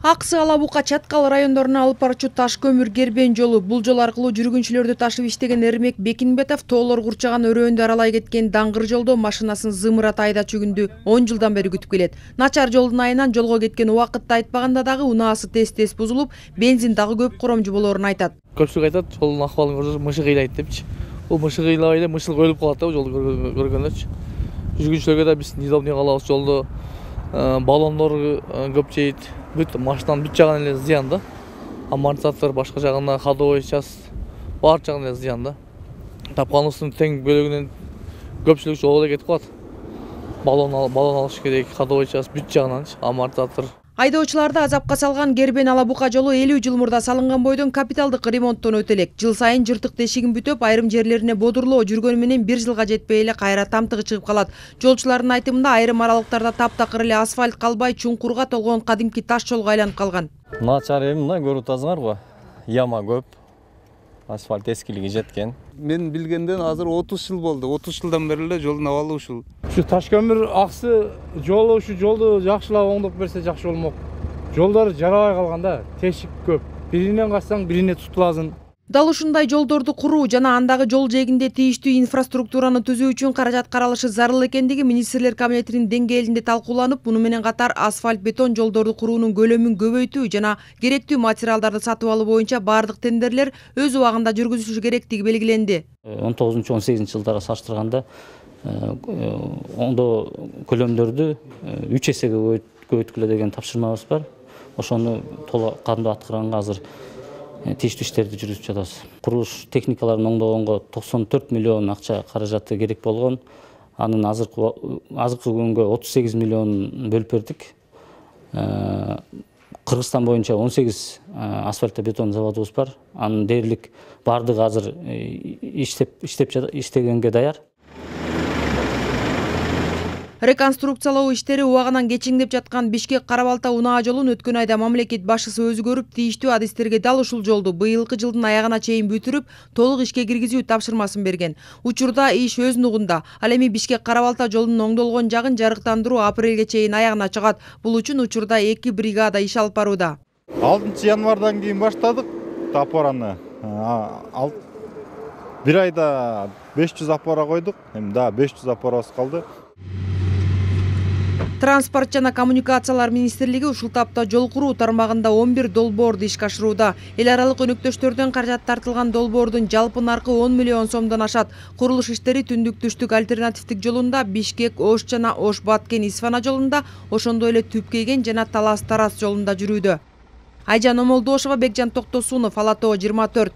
Аксы, Ала Бука, Чаткал райондоруна алып барчу таш көмүр кербен жолу. Бул жол аркылуу жүргүнчүлөрдү ташып иштеген Эрмек Бекинбетов тоолор курчаган өрөөндү аралай кеткен даңгыр жолдо машинасын зымырата айдачу күндү 10 жылдан бери күтүп келет. Начар жолдун айынан жолго кеткен убакытты айтпаганда дагы унаасы тез бузулуп, бензин дагы көп коромжу болоорун айтат. Көпчүлүк айтат, жолдун акыбалын көрсөң мышы кыйлайт депчи. Бул мышы кыйлабай эле мышылык өлүп калат да, жолду көргөндөрчү. Жүргүнчүлөргө да биз неудобный калабыз жолдо. Баллондор көп жейт. Бүт машинанын бүт жагынан эле зыян да. Амортизатор башка жагына, ходовой часть бар жагынан эле зыян да. Тапканыбыздын тең бөлүгүнөн көпчүлүк жолго кетип калат. Баллон алыш керек, ходовой часть бүт жагынан, амортизатор. Айдоочуларды азапка салган Кербен Ала Бука жолу 50 жыл мурда салынган бойдон капиталдык ремонттон өтө элек. Жыл сайын жыртык тешигин бүтөп, айрым жерлерине бодурлоо жүргөнү менен 1 жылга жетпей эле кайра тамтыгы чыгып калат. Жолчулардын айтымында айрым аралыктарда таптакыр эле асфальт калбай, чуңкурга толгон кадимки таш жолго айланып калган. Начар эми мына көрүп атасыңарбы? Яма көп. Асфальт эскилиги жеткен. Мен билгенден азыр 30 жыл болду. 30 жылдан бери эле жолдун абалы ушул. Ушу таш көмүр аксы жолу ушу жолду жакшылап оңдоп берсе жакшы болмок. Жолдор жарабай калган да, тешик көп. Биринен качсаң бирине тутуласың. Дал ушундай жолдорду куруу жана андагы жол жээгинде тийиштүү инфраструктураны түзүү үчүн каражат каралышы зарыл экендиги министрлер кабинетинин деңгээлинде талкууланып, муну менен катар асфальт бетон жолдорду куруунун көлөмүн көбөйтүү жана керектүү материалдарды сатып алуу боюнча бардык тендерлер өз убагында жүргүзүлүшү керектиги белгиленди. 19-18 жылдары салыштырганда оңдоо көлөмдөрдү 3 эсеге көбөйткүлө деген тапшырмабыз бар. Ошону толук кандуу аткарганга азыр тийиштүү иштерди жүргүзүп жатабыз. Курулуш техникаларын оңдогонго 94 миллион акча каражаты керек болгон. Анын азыркы күнгө 38 миллион бөлүп бердик. Кыргызстан боюнча 18 асфальт бетон заводубуз бар. Анын дээрлик бардыгы азыр иштегенге даяр. Реконструкциялоо иштери убагынан кечиңдеп жаткан Бишкек-Кара-Балта унаа жолун өткөн айда мамлекет башчысы өзү көрүп, тийиштүү адистерге дал ушул жолду быйылкы жылдын аягына чейин бүтүрүп, толук ишке киргизүү тапшырмасын берген. Учурда иш өз нугунда. Ал эми Бишкек-Кара-Балта жолунун оңдолгон жагын жарыктандыруу апрелге чейин аягына чыгат. Бул үчүн учурда 2 бригада иш алып барууда. 6 январдан кийин баштадык опораны. Бир айда 500 опора койдук. Эми да 500 опорабыз калды. Транспорт жана коммуникациялар министрлиги ушул тапта жол куруу тармагында 11 долбоорду ишке ашырууда. Эл аралык өнөктөштөрдөн каражат тартылган долбоордун жалпы наркы 10 миллион сомдон ашат. Курулуш иштери түндүк-түштүк альтернативдик жолунда, Бишкек-Ош жана Ош-Баткен-Исфана жолунда, ошондой эле Түп-Кеген жана Талас-Тарас жолунда жүрүүдө. Айжан Омолдошова, Бекжан Токтосунов, Ала Тоо 24.